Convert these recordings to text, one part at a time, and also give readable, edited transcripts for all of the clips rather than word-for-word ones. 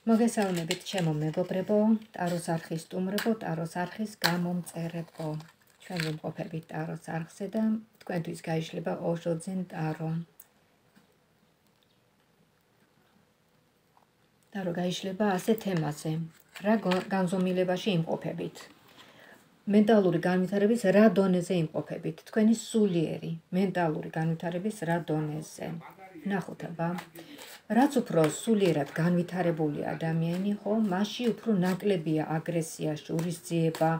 მოგესალმებით ჩემო მეგობრებო, ტაროს არხის სტუმრებო, ტაროს არხის გამომწერებო. ჩვენ ვიმყოფებით ტაროს არხზე და თქვენთვის გაიშლება ოშოძენ ტარო. ტარო გაიშლება ასე თემაზე, რა განზომილებაში იმყოფებით. მენტალური განვითარების რა დონეზე იმყოფებით, თქვენი სულიერი მენტალური განვითარების რა დონეზე. ნახოთ აბა. რაც უფრო სულიერად განვითარებული ადამიანი, ხო, მასში უფრო ნაკლებია აგრესია, შურისძიება,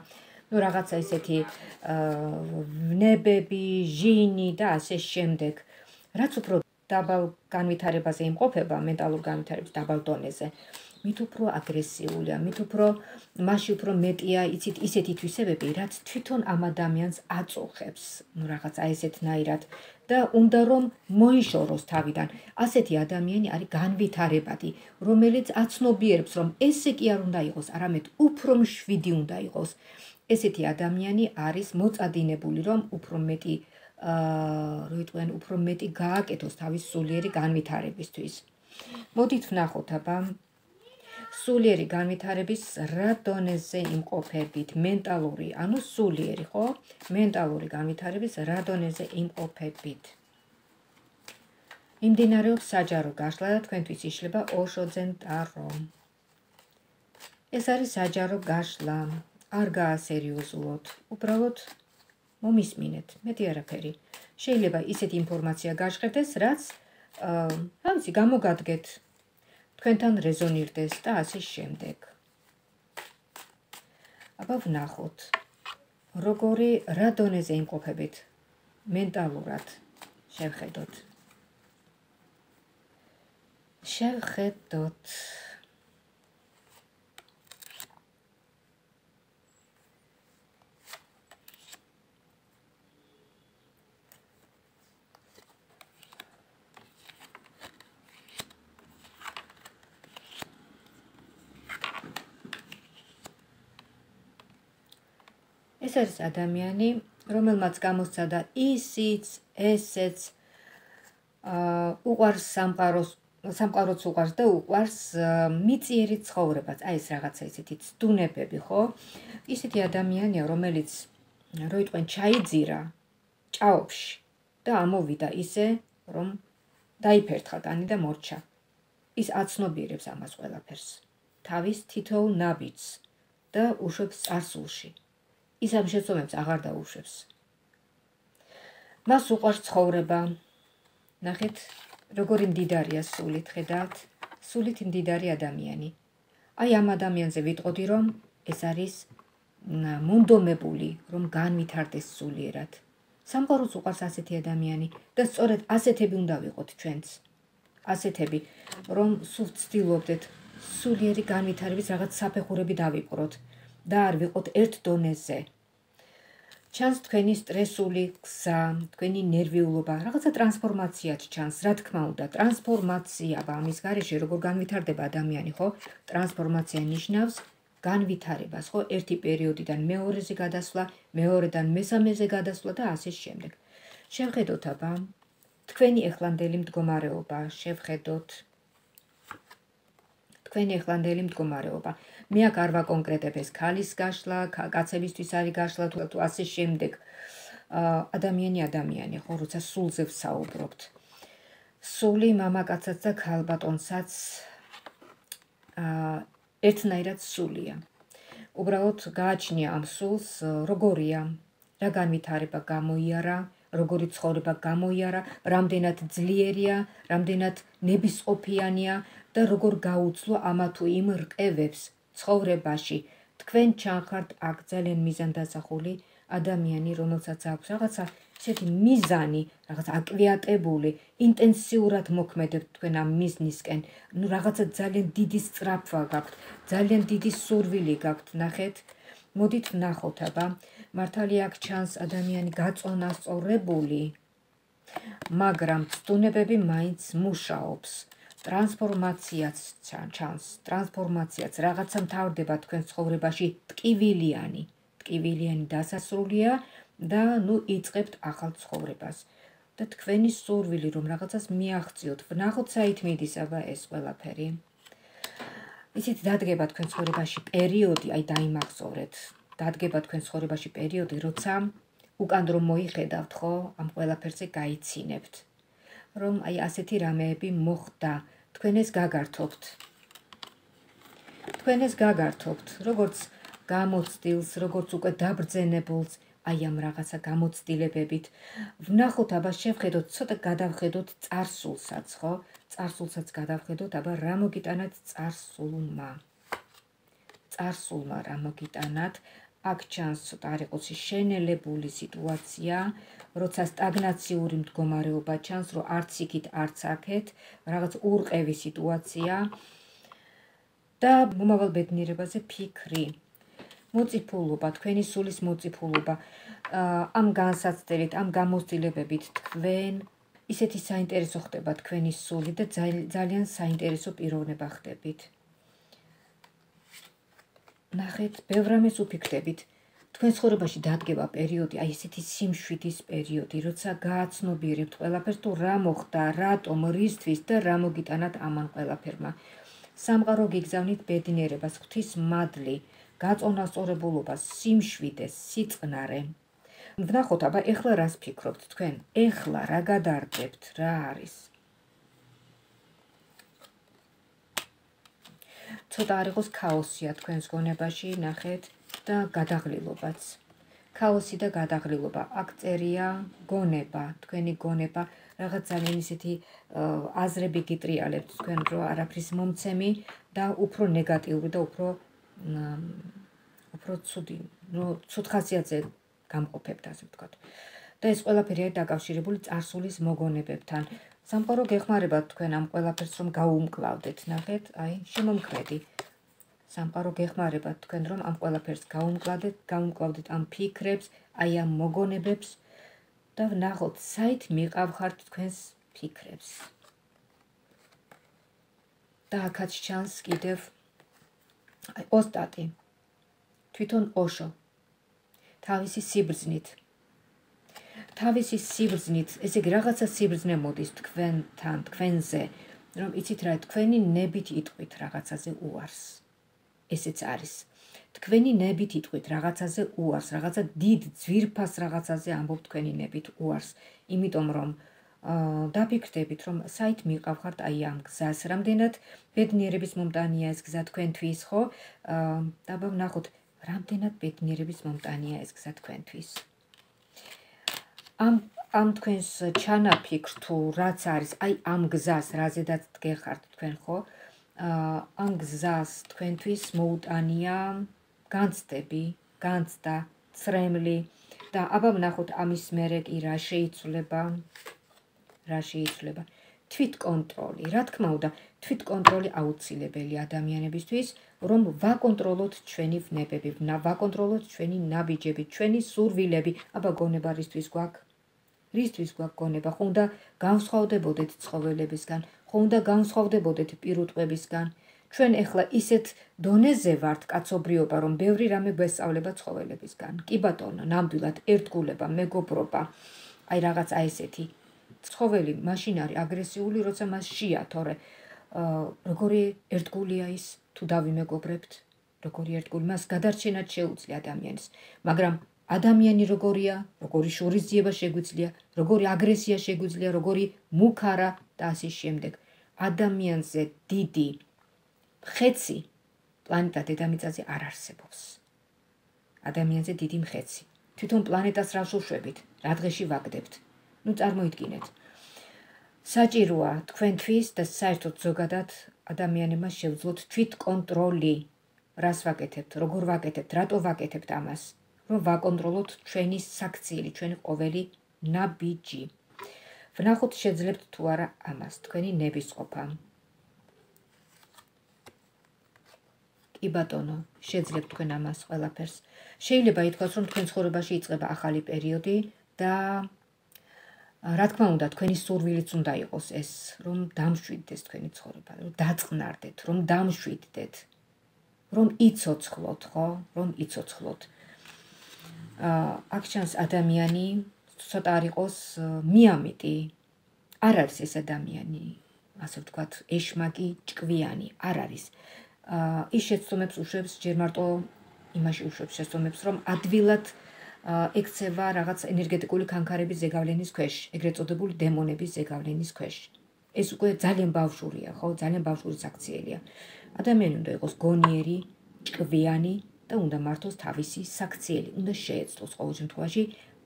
რაღაცა ისეთი ვნებები, ჟინი და ასე შემდეგ. რაც უფრო დაბალ განვითარებაზე იმყოფება, მენტალურ განვითარების დაბალ დონეზე, მით უფრო აგრესიულია, მით უფრო მასში უფრო მეტია, იცით, ისეთი თვისებები, რაც თვითონ ამ ადამიანს აწუხებს, რაღაცა ესეთნაირად და უნდა რომ მოიშოროს თავიდან. ასეთი ადამიანი არის განვითარებადი, რომელიც აცნობიერებს, რომ ესე კი არ უნდა იყოს, არამედ უფრო მშვიდი უნდა იყოს. ესეთი ადამიანი არის მოწადინებული, რომ უფრო მეტი გააკეთოს თავის სულიერი განვითარებისთვის. მოდით ვნახოთ აბა. სულიერი განვითარების რა დონეზე იმყოფებით, მენტალური, ანუ სულიერი, ხო? მენტალური განვითარების რა დონეზე იმყოფებით. იმდინარეობს საჯარო გაშლა და თქვენთვის იშლება ოშოძენ ტარო. ეს არის საჯარო გაშლა, არ გაასერიოზულოთ, უბრალოდ მომისმინეთ, მეტი არაფერი. შეიძლება ისეთი ინფორმაცია გაჟღერდეს, რაც გამოგადგეთ, თქვენთან რეზონირდეს და ასე შემდეგ. აბა ვნახოთ, როგორი რა დონეზე იმყოფებით მენტალურად, შევხედოთ. ეს არის ადამიანი, რომელმაც გამოსცადა ისიც, ესეც, უყვარს სამყაროც უყვარს და უყვარს მიწიერი ცხოვრებაც, აი ეს რაღაცა ისეთი ცდუნებები, ხო? ისეთი ადამიანია, რომელიც ჩაიძირა ჭაობში და ამოვიდა ისე, რომ დაიფერთხა კანი და მორჩა. ის აცნობიერებს ამას ყველაფერს, თავის თითოეულ ნაბიჯს და უშვებს წარსულში. ის ამ შეცდომებს აღარ დაუშვებს. მას უყვარს ცხოვრება. ნახეთ, როგორი მდიდარია სულით, ხედავთ? სულით მდიდარი ადამიანი. აი ამ ადამიანზე ვიტყოდი, რომ ეს არის მონდომებული, რომ განვითარდეს სულიერად. სამყაროს უყვარს ასეთი ადამიანი და სწორედ ასეთები უნდა ვიყოთ ჩვენც. ასეთები, რომ სულ ვცდილობდეთ სულიერი განვითარების რაღაც საფეხურები დავიპყროთ და არ ვიყოთ ერთ დონეზე. ჩანს თქვენი სტრესული გზა, თქვენი ნერვიულობა, რაღაცა ტრანსფორმაციაც ჩანს, რა თქმა უნდა, ტრანსფორმაცია, ამის გარეშე როგორ განვითარდება ადამიანი, ხო? ტრანსფორმაცია ნიშნავს განვითარებას, ხო? ერთი პერიოდიდან მეორეზე გადასვლა, მეორედან მესამეზე გადასვლა და ასე შემდეგ. შევხედოთ აბა, თქვენი ეხლანდელი მდგომარეობა, შევხედოთ. თქვენი ეხლანდელი მდგომარეობა. მე აქ არ ვაკონკრეტებ ეს ქალის გაშლა, კაცებისთვის არის გაშლა თუ ასე შემდეგ. ადამიანი, ხო, როცა სულზე ვსაუბრობთ. სული მამაკაცაც და ქალბატონსაც ერთნაირად სულია. უბრალოდ გააჩნია ამ სულს, როგორია, რა განვითარება გამოიარა, როგორი ცხოვრება გამოიარა, რამდენად ძლიერია, რამდენად ნებისყოფიანია და როგორ გაუძლო ამა თუ იმ რყევებს ცხოვრებაში. თქვენ ჩანხართ აქ ძალიან მიზანდაზახული ადამიანი, რომელსაც აქვს რაღაცა ისეთი მიზანი, რაღაც აკვიატებული, ინტენსიურად მოქმედებთ თქვენ ამ მიზნისკენ. რაღაცა ძალიან დიდი სწრაფვა გაქვთ, ძალიან დიდი სურვილი გაქვთ, ნახეთ. მოდით ვნახოთ აბა, მართალია აქ ჩანს ადამიანი გაწონასწორებული, მაგრამ ცდუნებები მაინც მუშაობს. ტრანსფორმაციაც ჩანს, ტრანსფორმაციაც რაღაცა მთავრდება თქვენ ცხოვრებაში, ტკივილიანი დასასრულია და იწყებთ ახალ ცხოვრებას. და თქვენი სურვილი, რომ რაღაცას მიაღწიოთ, ვნახოთ საით მიდის აბა ეს ყველაფერი. იცით, დადგება თქვენ ცხოვრებაში პერიოდი, აი დაიმახსოვრეთ, დადგება თქვენ ცხოვრებაში პერიოდი, როცა უკან რომ მოიხედავთ, ხო, ამ ყველაფერზე გაიცინებთ, რომ აი ასეთი რამეები მოხდა, თქვენ ეს გაგართობთ, როგორც გამოცდილს, როგორც უკვე დაბრძენებულს, აი ამ რაღაცა გამოცდილებებით. ვნახოთ, აბა შევხედოთ, ცოტა გადავხედოთ წარსულსაც, ხო? წარსულსაც გადავხედოთ, აბა რა მოგიტანათ წარსულმა რა მოგიტანათ. აქ ჩანს ცოტა არ იყოს შენელებული სიტუაცია, როცა სტაგნაციური მდგომარეობა ჩანს, რომ არც იქით, არც აქეთ, რაღაც ურყევი სიტუაცია და მომავალ ბედნიერებაზე ფიქრი. მოწიფულობა, თქვენი სულის მოწიფულობა, ამ განსაცდელით, ამ გამოცდილებებით თქვენ ისეთი საინტერესო ხდება თქვენი სული და ძალიან საინტერესო პიროვნება ხდებით. ნახეთ, ბევრ რამეს უფიქრდებით. თქვენ ცხოვრებაში დადგება პერიოდი, აი ესეთი სიმშვიდის პერიოდი, როცა გააცნობიერებთ ყველაფერს, თუ რა მოხდა, რატომ, რისთვის და რა მოგიტანათ ამან ყველაფერმა. სამყარო გიგზავნით ბედნიერებას, ღვთის მადლი, გაწონასწორებულობას, სიმშვიდეს, სიწყნარე. ვნახოთ, აბა ეხლა რას ფიქრობთ თქვენ? ეხლა რა გადარდებთ, რა არის? ცოტა არ იყოს ქაოსია თქვენს გონებაში, ნახეთ, და გადაღლილობაც. ქაოსი და გადაღლილობა. აქ წერია გონება, თქვენი გონება, რაღაც ძალიან ისეთი აზრები გიტრიალებთ თქვენ, რომ არაფრის მომცემი და უფრო ნეგატიური და უფრო ცუდი, ცუდ ხასიათზე გამყოფებთ, ასე ვთქვათ. და ეს ყველაფერი არის დაკავშირებული წარსულის მოგონებებთან. სამყარო გეხმარებათ თქვენ ამ ყველაფერს, რომ გაუმკლავდეთ, ნახეთ, აი, შემომქმედი. სამყარო გეხმარებათ თქვენ, რომ ამ ყველაფერს გაუმკლავდეთ ამ ფიქრებს, აი ამ მოგონებებს და ვნახოთ, საით მიყავხართ თქვენს ფიქრებს. და აქაც ჩანს კიდევ აი ოსტატი, თვითონ ოშო, თავისი სიბრძნით, ესე იგი რაღაცა სიბრძნე მოდის თქვენთან, თქვენზე, რომ იცით რა, თქვენი ნებით იტყვით რაღაცაზე უარს. ესეც არის. თქვენი ნებით იტყვით რაღაცაზე უარს, რაღაცა დიდ ძვირფას რაღაცაზე ამბობთ თქვენი ნებით უარს. იმიტომ რომ დაფიქრდებით, რომ საით მიყავხართ აი ამ გზას, რამდენად ბედნიერების მომტანია ეს გზა თქვენთვის, ხო? და ვნახოთ, რამდენად ბედნიერების მომტანია ეს გზა თქვენთვის. ამ თქვენს ჩანაფიქრ თუ რაც არის, აი ამ გზას, რაზედაც დგეხართ თქვენ, ხო? ამ გზას თქვენთვის მოუტანია განცდები, განცდა, ცრემლი და აბა ვნახოთ ამის მერე კი რა შეიცვლება. თვითკონტროლი. რა თქმა უნდა, თვითკონტროლი აუცილებელი ადამიანებისთვის, რომ ვაკონტროლოთ ჩვენი ვნებები, ვაკონტროლოთ ჩვენი ნაბიჯები, ჩვენი სურვილები. აბა გონება რისთვის გვაქვს? რისთვის გვაქვს გონება? ხო უნდა განსხვავდებოდეთ ცხოველებისგან, ხო უნდა განსხვავდებოდეთ პირუტყვებისგან. ჩვენ ეხლა ისეთ დონეზე ვართ კაცობრიობა, რომ ბევრი რამე გვესწავლება ცხოველებისგან. კი ბატონო, ნამდვილად ერთგულება, მეგობრობა, აი რაღაც აი ესეთი. ცხოველი მაშინ არის აგრესიული, როცა მას შია, თორე როგორი ერთგულია ის, თუ დავიმეგობრებთ, როგორი ერთგული, მას გადარჩენად შეუძლია ადამიანის, მაგრამ ადამიანი როგორია, როგორი შურისძიება შეგვიძლია, როგორი აგრესია შეგვიძლია, როგორი მუქარა და ასე შემდეგ. ადამიანზე დიდი მხეცი პლანეტა დედამიწაზე არ არსებობს. ადამიანზე დიდი მხეცი. თვითონ პლანეტას რას უშვებით, რა დღეში ვაგდებთ. ნუ წარმოიდგინეთ. საჭიროა თქვენთვის და საერთოდ ზოგადად ადამიანებმა შევძლოთ თვითკონტროლი. რას ვაკეთებთ, როგორ ვაკეთებთ, რატო ვაკეთებთ ამას, რომ ვაკონტროლოთ ჩვენი საქციელი, ჩვენი ყოველი ნაბიჯი. ვნახოთ შეძლებთ თუ არა ამას, თქვენი ნებისყოფა. კი ბატონო, შეძლებთ თქვენ ამას ყველაფერს. შეიძლება ითქვას, რომ თქვენ ცხოვრებაში იწყება ახალი პერიოდი და რა თქმა უნდა, თქვენი სურვილიც უნდა იყოს ეს, რომ დამშვიდდეს თქვენი ცხოვრება, რომ დაწყნარდეთ, რომ დამშვიდდეთ, რომ იცოცხლოთ, ხო? რომ იცოცხლოთ. აქ ჩანს ადამიანი, ცოტა არ იყოს მიამიტი. არ არის ეს ადამიანი, ასე ვთქვათ, ეშმაკი, ჭკვიანი, არ არის. ის შეცდომებს უშვებს ჯერ მარტო იმაში უშვებს შეცდომებს, რომ ადვილად ექცევა რაღაც ენერგეტიკული ქანქარების ზეგავლენის ქვეშ, ეგრეთ წოდებული დემონების ზეგავლენის ქვეშ. ეს უკვე ძალიან ბავშვურია, ხო, ძალიან ბავშვური საქციელია. ადამიანი უნდა იყოს გონიერი, ჭკვიანი და უნდა მართოს თავისი საქციელი, უნდა შეეცდოს ყოველ შემთხვევაში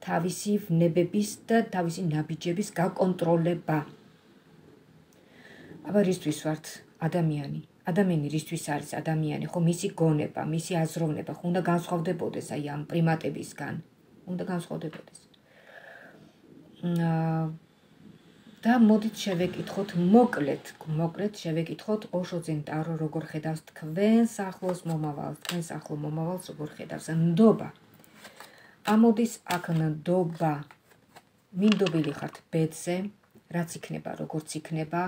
თავისი ვნებების და თავისი ნაბიჯების გაკონტროლება. აბა რისთვის ვართ ადამიანი? ადამიანი რისთვის არის ადამიანი, ხო, მისი გონება, მისი აზროვნება, ხო, უნდა განსხვავდებოდეს აი ამ პრიმატებისგან, უნდა განსხვავდებოდეს. და მოდით შევეკითხოთ მოკლედ შევეკითხოთ ოშო ძენ ტარო როგორ ხედავს თქვენს ახლოს მომავალს, თქვენს ახლო მომავალს როგორ ხედავს ნდობა. ამოდის აქ ნდობა. მინდობილი ხართ ბედზე, რაც იქნება, როგორც იქნება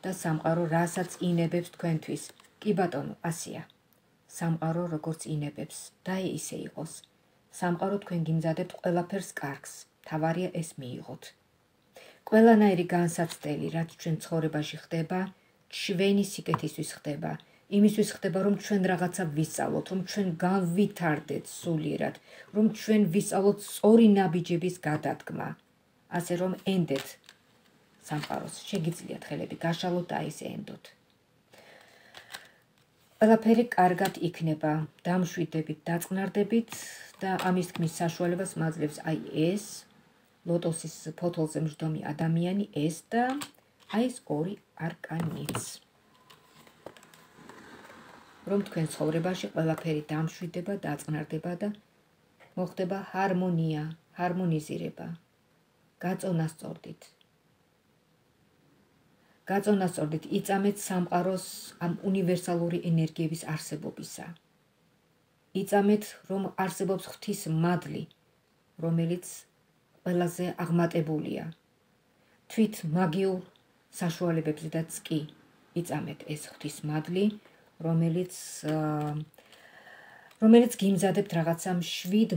და სამყარო რასაც ინებებს თქვენთვის. კი ბატონო, ასია. სამყარო როგორც ინებებს და ისე იყოს. სამყარო თქვენ გიმზადებთ ყველაფერს კარგს. თავარია ეს მიიღოთ. ყველანაირი განსაცდელი, რაც ჩვენ ცხოვრებაში ხდება, ჩვენი სიკეთისთვის ხდება. იმისთვის ხდება, რომ ჩვენ რაღაცა ვისწავლოთ, რომ ჩვენ განვითარდეთ სულიერად, რომ ჩვენ ვისწავლოთ სწორი ნაბიჯების გადადგმა. ასე რომ ენდეთ სამყაროს, შეგიძლიათ ხელები გაშალოთ და ისე ენდოთ. ყველაფერი კარგად იქნება, დამშვიდებით, დაწყნარდებით და ამის თქმის საშუალებას მაძლევს აი ეს ლოტოსის ფოთოლზე მждომი ადამიანი ეს და აი ეს ორი არკანიც. რომ თქვენ ცხოვრებაში ყველაფერი დამშვიდება, დაწყნარდება და მოხდება ჰარმონია, ჰარმონიზირება. გაწონასწორდით. გაწონასწორდით, იწამეთ სამყაროს ამ უნივერსალური ენერგიების არსებობისა. იწამეთ, რომ არსებობს ღვთის მადლი, რომელიც ყველაზე აღმატებულია. თვით მაგიურ საშუალებებზედაც კი იწამეთ ეს ღვთის მადლი, რომელიც გიმზადებთ რაღაცა მშვიდ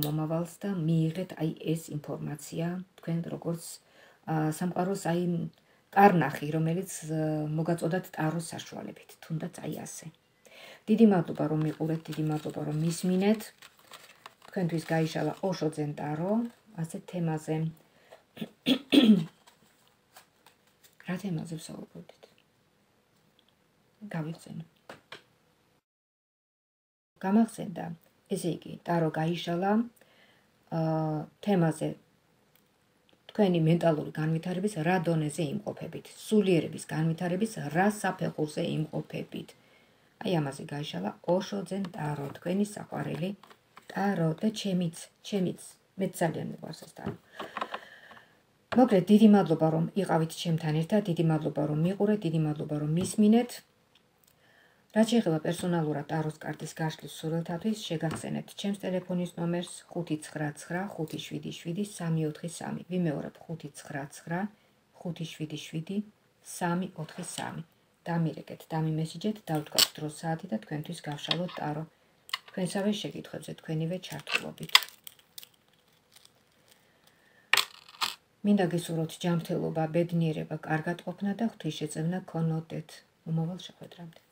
მომავალს და მიიღეთ აი ეს ინფორმაცია თქვენ როგორც სამყაროს აი კარნახი, რომელიც მოგაწოდათ ტაროს საშუალებით, თუნდაც აი ასე. დიდი მადლობა რომ მიყურეთ, დიდი მადლობა რომ მისმინეთ. თქვენთვის გაიშალა ოშო ძენ ტარო, ასეთ თემაზე. რა თემაზე ვსაუბრობდით? გავიხსენო. გამახსენდა, ესე იგი, ტარო გაიშალა თემაზე თქვენი მენტალური განვითარების რა დონეზე იმყოფებით, სულიერების განვითარების რა საფეხურზე იმყოფებით. აი ამაზე გაიშალა ოშო ძენ ტარო, თქვენი საყვარელი ტარო და ჩემიც, მე ძალიან მიყვარს ეს ტარო. მოკლედ, დიდი მადლობა რომ იყავით ჩემთან ერთად, დიდი მადლობა რომ მიყურეთ, დიდი მადლობა რომ მისმინეთ. რაც შეეხება პერსონალურად ტაროს კარტის გაშლის სურვილთათვის, შეგახსენებთ ჩემს ტელეფონის ნომერს 599577343. ვიმეორებ 599577343. დამირეკეთ, დამიმესიჯეთ, დავთქვათ დრო საათი და თქვენთვის გავშალოთ ტარო. თქვენსავე შეკითხვებზე თქვენივე ჩართულობით. მინდა გისურვოთ ჯანმრთელობა, ბედნიერება, კარგად ყოფნა და ღვთისშეწევნა გქონოდეთ. მომავალ შეხვედრამდე.